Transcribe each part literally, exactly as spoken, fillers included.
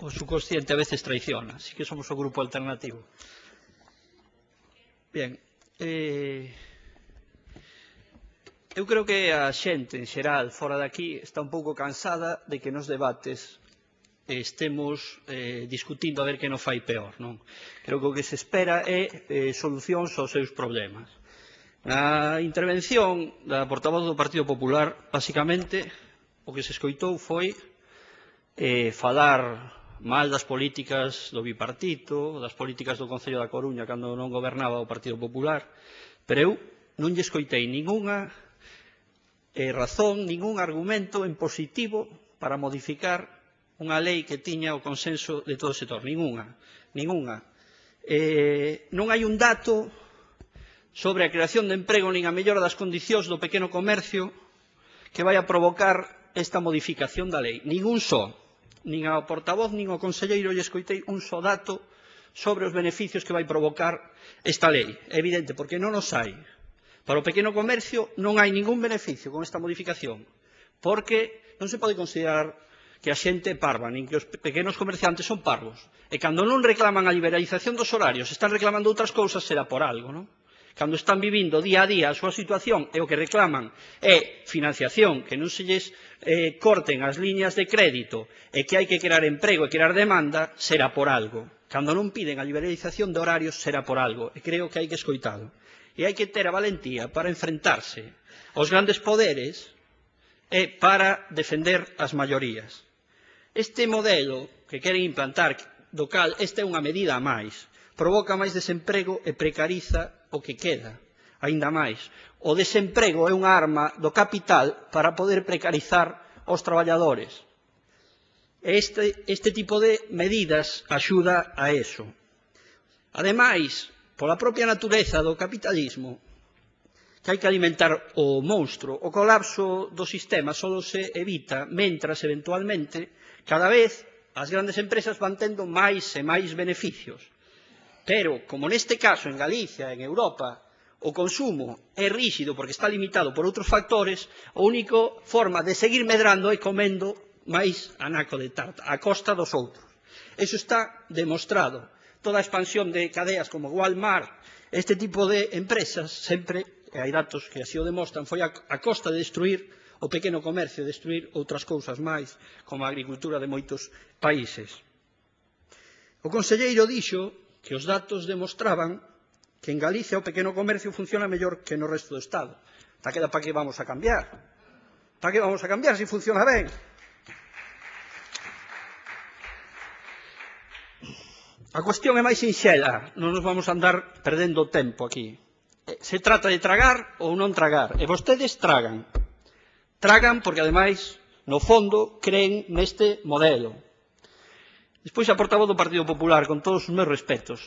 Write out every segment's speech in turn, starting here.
o subconsciente a veces traiciona, así que somos o grupo alternativo. Bien, eh, eu creo que a xente en xeral fora de aquí está un pouco cansada de que nos debates estemos eh, discutindo a ver que non fai peor, non? Creo que o que se espera é eh, solucións aos seus problemas. Na intervención da portavoz do Partido Popular, basicamente, o que se escoitou foi eh, falar mal das políticas do bipartito, das políticas do Concello da Coruña cando non gobernaba o Partido Popular, pero eu non lle escoitei ningunha eh, razón, ningún argumento en positivo para modificar unha lei que tiña o consenso de todo o sector, ningunha, ningunha. Eh, non hai un dato sobre a creación de emprego nin a mellora das condicións do pequeno comercio que vai a provocar esta modificación da lei. Ningún só, nin ao portavoz nin ao conselleiro lle escoitei un só dato sobre os beneficios que vai provocar esta lei. É evidente, porque non os hai. Para o pequeno comercio non hai ningún beneficio con esta modificación, porque non se pode considerar que a xente é parva, nin que os pequenos comerciantes son parvos. E cando non reclaman a liberalización dos horarios, están reclamando outras cousas, será por algo, non? Cando están vivindo día a día a súa situación e o que reclaman é financiación, que non se lles eh, corten as liñas de crédito e que hai que crear emprego e crear demanda, será por algo. Cando non piden a liberalización de horarios, será por algo. E creo que hai que escoitalo. E hai que ter a valentía para enfrentarse aos grandes poderes e para defender as maiorías. Este modelo que queren implantar, do cal esta é unha medida a máis, provoca máis desemprego e precariza o que queda, aínda máis. O desemprego é unha arma do capital para poder precarizar os traballadores. Este, este tipo de medidas axuda a eso. Ademais, pola propia natureza do capitalismo, que hai que alimentar o monstro, o colapso do sistema só se evita mentras, eventualmente, cada vez as grandes empresas van tendo máis e máis beneficios. Pero, como neste caso en Galicia, en Europa, o consumo é ríxido porque está limitado por outros factores, a única forma de seguir medrando é comendo máis anaco de tarta, a costa dos outros. Eso está demostrado. Toda a expansión de cadeas como Walmart, este tipo de empresas, sempre, e hai datos que así o demostran, foi a, a costa de destruir o pequeno comercio, de destruir outras cousas máis, como a agricultura de moitos países. O conselleiro dixo que os datos demostraban que en Galicia o pequeno comercio funciona mellor que no resto do Estado. Taqueda, para que vamos a cambiar? Para que vamos a cambiar se funciona ben? A cuestión é máis sinxela, non nos vamos a andar perdendo tempo aquí. Se trata de tragar ou non tragar, e vostedes tragan. Tragan porque, ademais, no fondo, creen neste modelo. Despois, a portavoz do Partido Popular, con todos os meus respetos,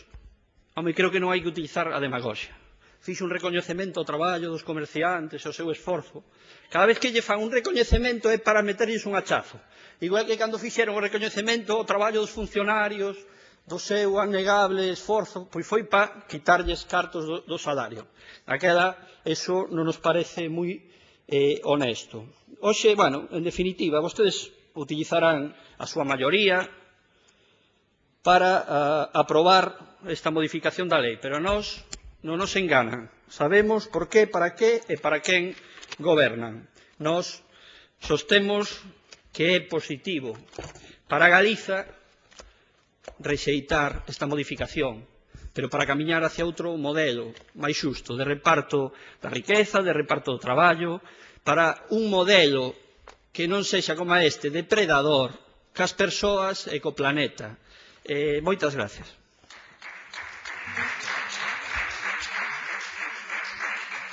home, creo que non hai que utilizar a demagoxia. Fixo un recoñecemento ao traballo dos comerciantes, ao seu esforzo. Cada vez que lle fan un recoñecemento é para meterlles un hachazo. Igual que cando fixeron o recoñecemento ao traballo dos funcionarios, do seu anegable esforzo, pois foi para quitarlles cartos do, do salario. Aquela, eso non nos parece moi eh, honesto. Hoxe, bueno, en definitiva, vostedes utilizarán a súa maioría para uh, aprobar esta modificación da lei, pero nós non nos enganan. Sabemos por qué, para qué e para quen gobernan. Nós sostemos que é positivo para Galiza rexeitar esta modificación, pero para camiñar hacia outro modelo máis xusto, de reparto da riqueza, de reparto do traballo, para un modelo que non sexa como este, depredador, cas persoas e co planeta. Eh, moitas gracias.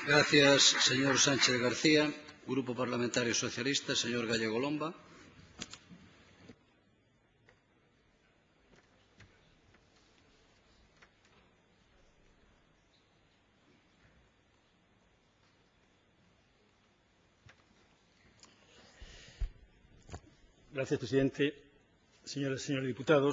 Gracias, señor Sánchez García. Grupo Parlamentario Socialista, señor Gallego Lomba. Gracias, presidente. Señoras y señores diputados,